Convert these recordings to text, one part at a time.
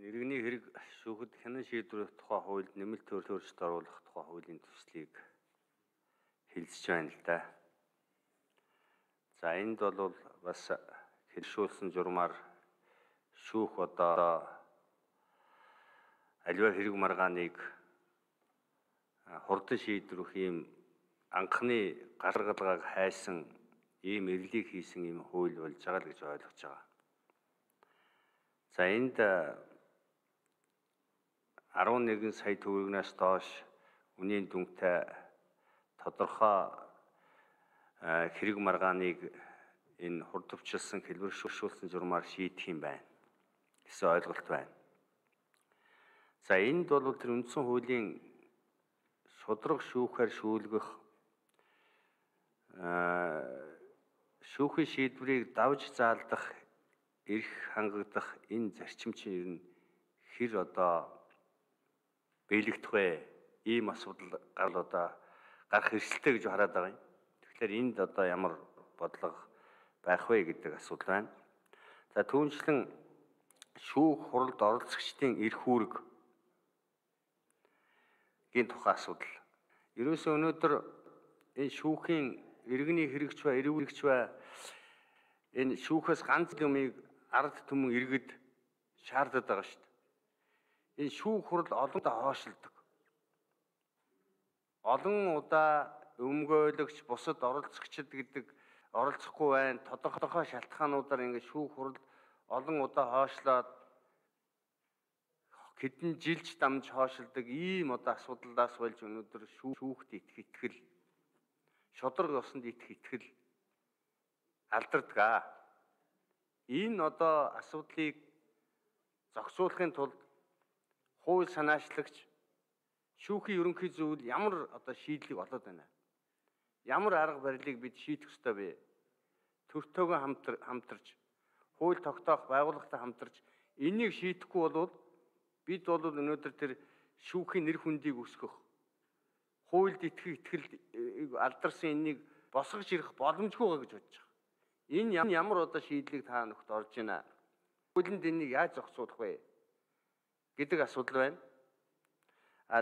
Иргэний хэрэг шүүхэд хянан шийдвэрийн тухай хуульд нэмэлт өөрчлөлт оруулах тухай хуулийн төслийг хэлэлцэж байна л да. За энд бол бас хэлшүүлсэн журмаар шүүх одоо аливаа хэрэг маргааныг хурдан шийдвэрх ийм анхны гаргалгааг хайсан ийм эрлийг хийсэн ийм хууль болж байгаа л гэж ойлгож байгаа. За энд 11 сая төгрөгнөөс доош үнийн дүнтэй тодорхой хэрэг маргааныг энэ хурдвчлсан хэлбэршүүлсэн журмаар шийдэх юм байна гэсэн ойлголт байна. За энд бол тэр үндсэн хуулийн шударга шүүхээр шүүлгэх шүүхийн шийдвэрийг давж заалдах эрх хангагдах энэ зарчим чинь ер нь хэр одоо биелэгдэх вэ? Ийм асуудал гарах эрсдэлтэй гэж хараад байгаа юм. Тэгэхээр энд одоо ямар бодлого байх вэ гэдэг асуудал байна. За түүнчлэн шүүх хуралд оролцогчдын эрх үүрэг гийн тухай асуудал. Ерөөсөө өнөөдөр энэ шүүхийн иргэний хэрэгч ба эрүүрэгч ба энэ шүүхээс ганц юмыг ард түмэн иргэд шаарддаг байгаа шүү дээ. Энэ шүүх хурал олон удаа хоошлдог. Олон удаа өмгөөлөгч бусад оролцогчд гэдэг оролцохгүй байна. Тодорхой шалтгаануудаар ингэ шүүх хурал олон удаа хоошлоод хэдэн жилч дамж хоошилдог ийм одоо асуудлаас болж өнөөдөр шүүхт итгэл шударга ёсонд итгэл алдардаг. Энэ одоо асуудлыг зохицуулахын тулд хууль санаачлагч шүүхийн ерөнхий зөвлөл ямар одоо шийдлийг олоод байна. Ямар арга барилыг бид шийдэх ёстой вэ? Төртөөгөө хамтарч, хууль тогтоох байгууллагатай хамтарч энийг шийдэхгүй бол бид бол өнөөдөр тэр шүүхийн нэр хүндийг өсгөх, хуульд итгэл алдарсан энийг босгож ирэх боломжгүй байгаа гэж бодож байгаа. Энэ ямар одоо шийдлийг та нөхд орж байна? Хуулинд энийг яаж зохицуулах вэ гэдэг асуудал байна.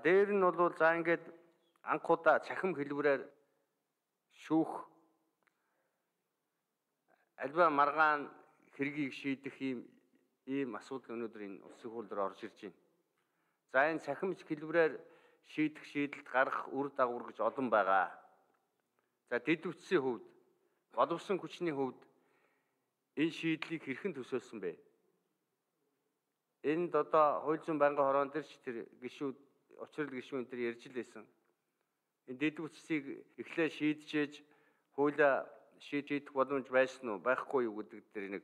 Дээр нь бол за ингээд анхудаа цахим хэлбэрээр шүүх альва маргаан хэргийг шийдэх ийм асуудал өнөөдөр энэ улсын хууль дээр орж ирж байна. За энэ цахимч хэлбэрээр шийдэх шийдэлд гарах үр дагавар гэж олон байгаа. За дэд үтсийн хувьд, боловсон хүчний хувьд энэ шийдлийг хэрхэн төсөөлсөн бэ? Энд одоо хууль зүйн байнгын хорон дээр ч тэр гишүүд, учрал гишүүн тэр ярьж лээсэн. Энэ дэд үтсийг эхлээ шийдчээж хуулиа шийдэх боломж байсан уу, байхгүй юу гэдэг дээр нэг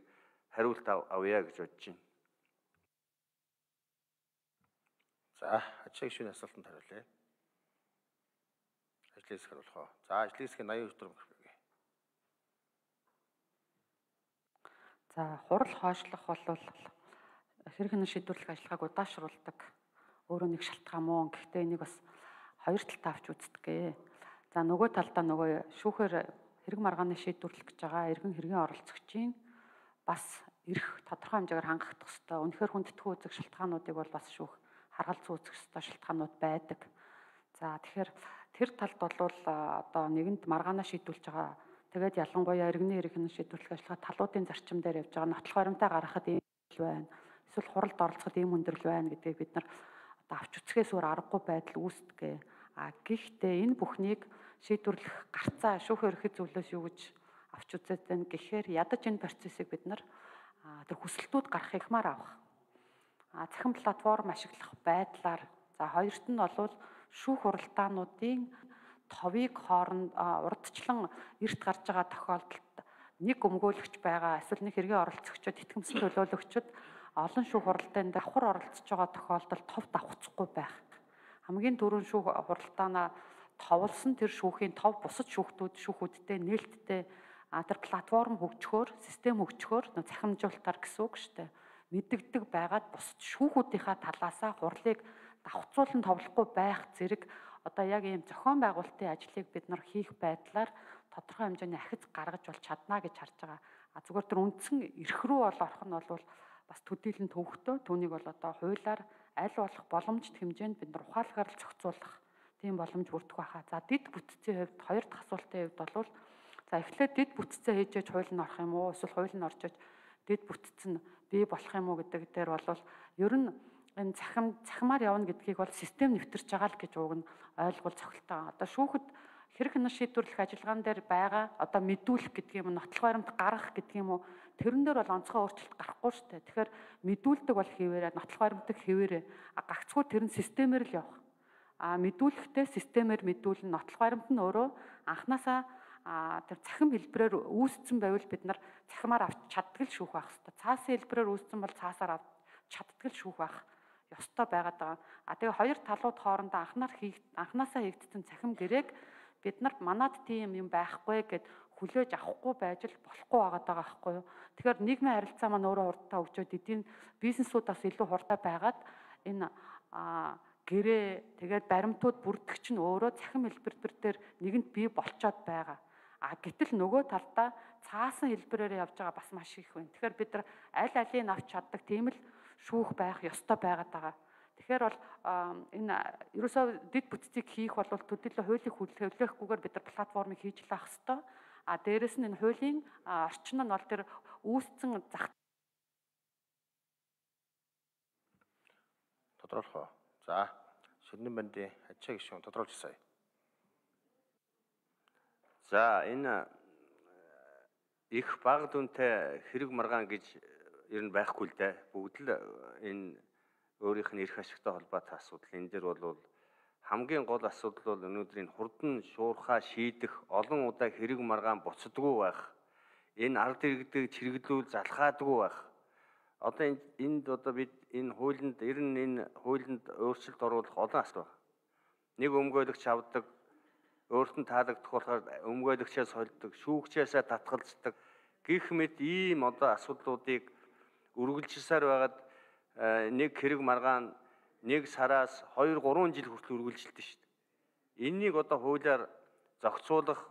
хариулт авъя гэж бодож байна. За, ачаа гишүүний асуултанд хариулъя. Ажлын хэсэг хариулах уу? За, ажлын хэсгийн 82 дүрм хэрэг. За, хурал хойшлох бол хэрэг хянан шийдвэрлэх ажиллагааг удаашруулдаг өөрөө нэг шалтгаан муу. Гэхдээ энийг бас хоёр талтай авч үздэг. За, нөгөө талдаа нөгөө шүүхээр хэрэг маргааны шийдвэрлэх гэж байгаа иргэн хэргийн оролцогчийн бас эрх тодорхой хэмжээгээр хангагдах ёстой. Үнэхээр хүндэтгүү үзэх шалтгаануудыг бол бас шүүх харгалзан үзэх ёстой шалтгаанууд байдаг. За тэгэхээр тэр талд бол одоо нэгэнд маргаанаа шийдвэрлэж байгаа. Тэгээд ялангуяа иргэний хэрэг хянан шийдвэрлэх ажиллагаа талуудын зарчим дээр явж байгаа нотлох баримтаа гаргахад ийм байна. Эсвэл хуралд оролцоход ийм өндөрлөл байна гэдгийг бид нар одоо авч үзэхээс өөр аргагүй байдал үүсдэг. Гэхдээ энэ бүхнийг шийдвэрлэх гарцаа шүүхийн ерөнхий зөвлөлөөс юу гэж авч үзээд байна гэхээр ядаж энэ процессыг бид нар тэр хүсэлтүүд гарах ихмаар авах. Цахим платформ ашиглах байдлаар за хоёрт нь бол шүүх хуралдаануудын товыг хооронд урдчлан эрт гарч байгаа тохиолдолд нэг өмгөөлөгч байгаа эсвэл нэг хэргийн оролцогчид итгэмсэн төлөөлөгчд олон шүүх хуралдаанд давхар оролцож байгаа тохиолдолд тов давхцахгүй байх. Хамгийн түрүүн шүүх хуралдаанаа товлсон тэр шүүхийн тов бусад шүүхүүдтэй нээлттэй тэр платформ хөгжөхөөр, систем хөгжөхөөр захимжуулалтаар гэсэн үг шүү дээ. Мэддэгдэг байгаад бусад шүүхүүдийнхаа талаасаа хурлыг давхцуулан товлохгүй байх зэрэг одоо яг ийм зохион байгуулалтын ажлыг бид нар хийх байдлаар тодорхой хэмжээний ахиц гаргаж бол чадна гэж харж байгаа. Зүгээр тэр үндсэн эрх рүү бол орох нь бол бас төдийлөн төвөгтэй. Түүнийг бол одоо хуулиар аль болох боломжит хэмжээнд бид нар ухаалгаар л зохицуулах тийм боломж бүрдэх байхаа. За дид бүтцийн хувьд хоёр дахь асуултын хувьд бол за эхлээд дид бүтцээ хийжээж хууль нь орох юм уу? Эсвэл хууль нь орчиж дид бүтц нь бий болох юм уу гэдэг дээр бол ер нь энэ цахимаар явна гэдгийг бол систем нэвтэрч байгаа л гэж уг нь ойлгуул цохилтой. Одоо шүүхэд хэрэг хянах шийдвэрлэх ажиллагаан дээр байгаа одоо мэдүүлэх гэдэг юм, нотлох баримт гаргах гэдэг юм уу? Тэрэн дээр бол онцгой өөрчлөлт гарахгүй шүү дээ. Тэгэхээр мэдүүлдэг бол хэвээрээ, нотлох баримтыг хэвээрээ. Гагцхүү тэр нь системээр л явах. Мэдүүлэхдээ системээр мэдүүлнэ. Нотлох баримт нь өөрөө анханасаа тэр цахим хэлбэрээр үүссэн байвал бид нар цахимаар авч чаддаг л шүүх байх хэрэгтэй. Цаасын хэлбэрээр үүссэн бол цаасаар авч чаддаг л шүүх байх ёстой байгаад байгаа. Тэгээ хоёр талууд хоорондоо анханасаа хийгдсэн цахим гэрээг бид нарт манад тийм юм байхгүй гэд хүлээж авахгүй байж л болохгүй байгаад байгаа байхгүй юу. Тэгэхээр нийгмийн харилцаа маань өөрөө хурдтай хөгжөөд эдийн бизнесүүд бас илүү хурдтай байгаад энэ гэрээ тэгээд баримтууд бүрдэх чинь өөрөө цахим хэлбэр дээр нэгэнт бий болцоод байгаа. Гэтэл нөгөө талдаа цаасан хэлбэрээр явж байгаа бас маш их байна. Тэгэхээр бид нар аль алийг авч чаддаг тийм л шүүх байх ёстой байгаад байгаа. Тэгэхээр бол энэ ерөөсөө дид бүтцийг хийх бол төдийлөн хуулийн хүлээхгүйгээр бид нар платформыг хийж лаах ёстой. Дээрэс нь энэ хуулийн орчин нь бол тэр үүссэн зах тодруулах уу? За, Ширнэн бандын ачаа гишүүн тодруулж сая. За энэ их бага дүнтэй хэрэг маргаан гэж ер нь байхгүй л дээ. Бүгд л энэ өөрийнх нь эрх ашигтай холбоотой асуудал. Энэ дээр бол хамгийн гол асуудал бол өнөөдрийн хурдан шуурхаа шийдэх, олон удаа хэрэг маргаан буцдаггүй байх. Энэ ард иргэдэг чиргэлүүл залхаадаггүй байх. Одоо энд бид энэ хуулинд ер нь энэ хуулинд өөрчлөлт оруулах олон асуудал байна. Нэг өмгөөлөгч авдаг, өөрт нь таалагдах болохоор өмгөөлөгчөөс холддог, шүүгчээсээ татгалздаг гэх мэт ийм одоо асуудлуудыг үргэлжилсээр байгаад нэг хэрэг маргаан нэг сараас 2-3 жил хүртэл үргэлжилдэг шүү дээ. Энийг одоо хуулиар зохицуулах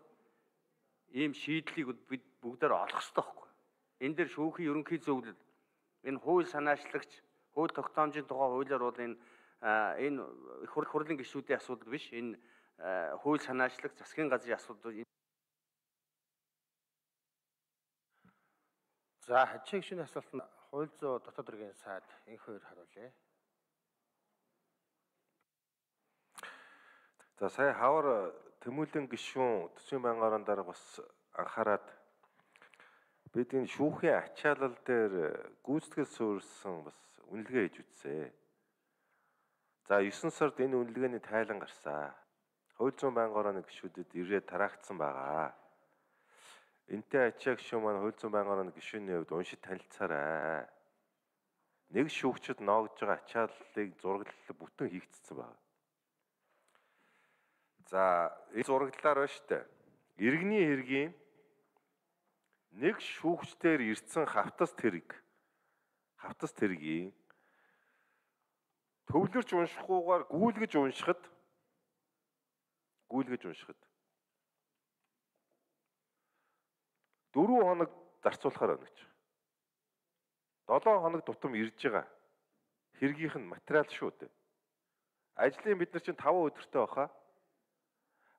ийм шийдлийг бид бүгдээр олох ёстой байхгүй. Энэ дээр шүүхийн ерөнхий зөвлөл, энэ хууль санаачлагч, хууль тогтоомжийн тухай хуулиар бол энэ их хурлын гишүүдийн асуудал биш. Энэ хууль санаачлагч, засгийн газрын асуудал. За, ачаа гишүүний асуулт нь хууль зүйн дотоод хэргийн сайд энэ хоёр хариулъя. За сая хавар Тэмүүлэн гишүүн төсвийн байнгын орон дарга бас анхаарад бид энэ шүүхийн ачаалал дээр гүйцэтгэл суурьсан бас үнэлгээ хийж үзсэн. За 9 сард энэ үнэлгээний тайлан гарсан. Хууль зүйн байнгын орооны гишүүдэд ирээд тараагдсан байгаа. Энтэй ачаа гишүүн маань хууль зүйн байнгын орооны гишүүний хувьд уншиж танилцаарай. Нэг шүүгчд ноогдж байгаа ачааллыг зураглал бүтэн хийгдсэн байна. За энэ зураглалаар байна шүү дээ. Иргэний хэргийн нэг шүүгчдээр ирсэн хавтас тэргийн төвлөрч уншихгүйгээр гүйлгэж уншихад 4 хоног зарцуулахаар байна гэж. 7 хоног тутам ирж байгаа хэргийнх нь материал шүү дээ. Ажлын бид нар чинь 5 өдөртэй баха.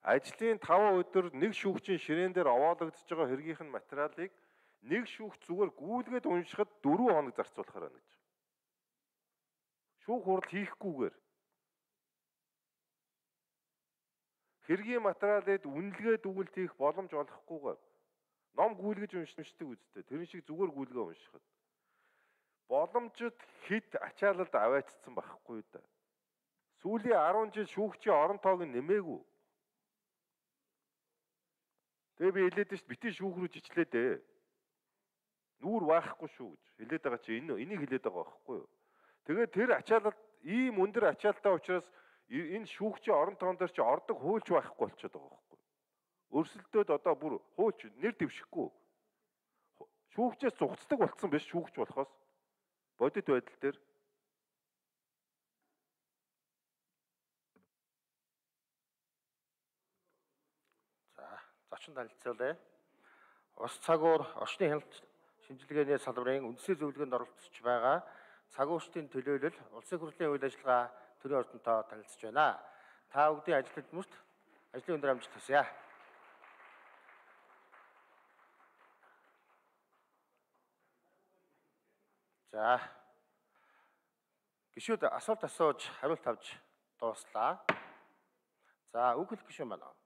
Ажлын 5 өдөр нэг шүүгчийн ширээн дээр овоологдож байгаа хэргийнх нь материалыг нэг шүүгч зүгээр гүйлгээд уншихад 4 хоног зарцуулахаар байна гэж. Шүүх хурал хийхгүйгээр хэргийн материалыг үнэлгээд үгэлт хийх боломж олохгүйгээр ном гүйлгэж уншдаг үстэй. Тэрэн шиг зүгээр гүйлгээ уншихад боломжит хэд ачаалалд аваачсан байхгүй да. Сүүлийн 10 жил шүүгчийн орон тоог нь нэмээгүй. Тэгээ би хэлээд шүү дээ, битгий шүүх рүү жичлээ дээ. Нүүр байхгүй шүү гэж хэлээд байгаа чи энийг хэлээд байгаа байхгүй юу? Тэгээ тэр ачаалал ийм өндөр ачаалтай учраас энэ шүүгчийн орон тоон дээр чи ордог хуульч байхгүй болчиход байгаа байхгүй юу? Өрсөлдөөд одоо бүр хуульч нэр дэвшихгүй. Шүүгчээс зугцдаг болцсон биш шүүгч болохоос бодит байдал дээр. За, зочин танилцуулъя. Ус цагуур орчны хяналт шинжилгээний салбарын үндэсний зөвлөгөөнд оролцож байгаа цагуурчдын төлөөлөл улсын хурлын үйл ажиллагаа төрийн ордонтой танилцж байна. Та бүгдийн ажил хөдөлмөрт ажлын өндөр амжилт хүсье. За. Гишүүд асуулт асууж хариулт авч дууслаа. За, үг хэлэх гишүүн байна уу?